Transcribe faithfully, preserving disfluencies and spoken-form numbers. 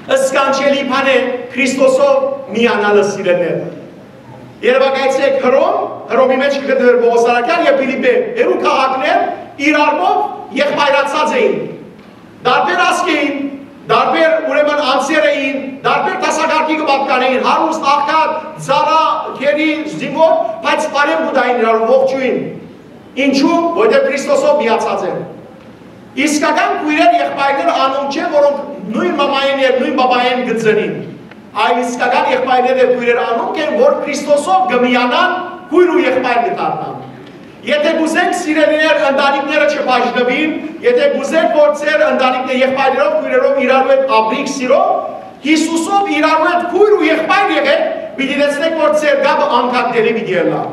Սքանչելի բան է Քրիստոսով միանալը, սիրելիներ։ Երեւակայեցէք Հռոմ, Հռոմի մէջ կը գտնուէր Պողոս Արաքեան, եւ Փիլիպպէ, երկու քաղաքներ իրարմով եղբայրացած էին։ Տարբեր ազգ էին, տարբեր, ուրեմն, անձեր էին, տարբեր դասակարգի կը պատկանեին, հարուստ, աղքատ, ծառայ, գերի, զինվոր, բայց բարեւ կու տային իրարու, ողջոյին։ Ինչու՞, որովհետեւ Քրիստոսով միացած են։ Իսկական քոյրեր, եղբայրներ անոնք չեն, որոնք նոյն մամայէն եւ նոյն պապայէն կը ծնին, այլ իսկական եղբայրներ եւ քոյրեր անոնք են, որ Քրիստոսով կը միանան, քոյր ու եղբայր կը դառնան։ Եթէ կ'ուզենք, սիրելիներ, ընտանիքները չբաժնուին, եթէ կ'ուզենք, որ ձեր ընտանիքները եղբայրներով, քոյրերով իրարու հետ ապրիք սիրով, Յիսուսով իրարու հետ քոյր ու եղբայր եղեք, պիտի տեսնեք, որ ձեր կապը անկատելի պիտի ըլլայ։